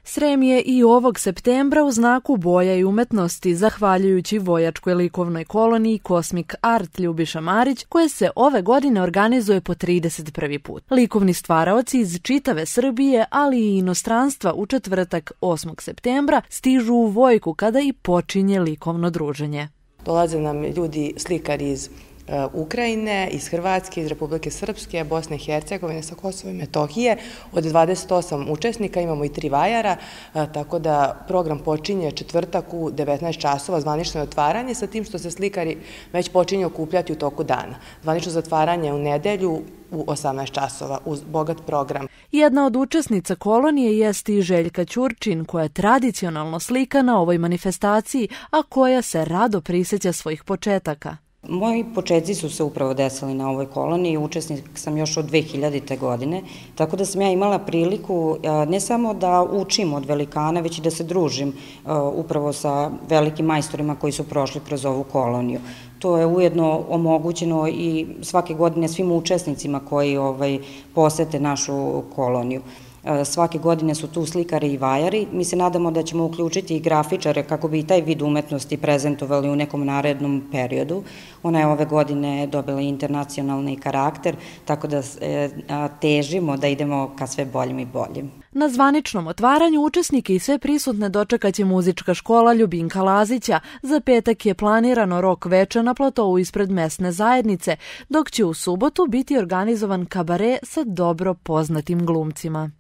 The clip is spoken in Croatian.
Srem je i ovog septembra u znaku boja i umetnosti, zahvaljujući vojačkoj likovnoj koloniji Cosmic Art Ljubiša Marić, koje se ove godine organizuje po 31. put. Likovni stvaraoci iz čitave Srbije, ali i inostranstva u četvrtak 8. septembra stižu u Vojku kada i počinje likovno druženje. Dolaze nam ljudi, slikari iz Ukrajine, iz Hrvatske, iz Republike Srpske, Bosne i Hercegovine, sa Kosova i Metohije. Od 28 učesnika imamo i 3 vajara, tako da program počinje četvrtak u 19 časova, zvanično je otvaranje, sa tim što se slikari već počinju okupljati u toku dana. Zvanično zatvaranje u nedelju u 18 časova uz bogat program. Jedna od učesnica kolonije jeste i Željka Ćurčin, koja je tradicionalno slika na ovoj manifestaciji, a koja se rado prisjeća svojih početaka. Moji početci su se upravo desili na ovoj koloniji, učesnik sam još od 2000. godine, tako da sam ja imala priliku ne samo da učim od velikana, već i da se družim upravo sa velikim majstorima koji su prošli kroz ovu koloniju. To je ujedno omogućeno i svake godine svim učesnicima koji posete našu koloniju. Svake godine su tu slikari i vajari. Mi se nadamo da ćemo uključiti i grafičare kako bi i taj vid umetnosti prezentovali u nekom narednom periodu. Ona je ove godine dobila internacionalni karakter, tako da težimo da idemo ka sve boljim i boljim. Na zvaničnom otvaranju učesnike i sve prisutne dočekaće muzička škola Ljubinka Lazića. Za petak je planirano rok veče na platovu ispred mesne zajednice, dok će u subotu biti organizovan kabare sa dobro poznatim glumcima.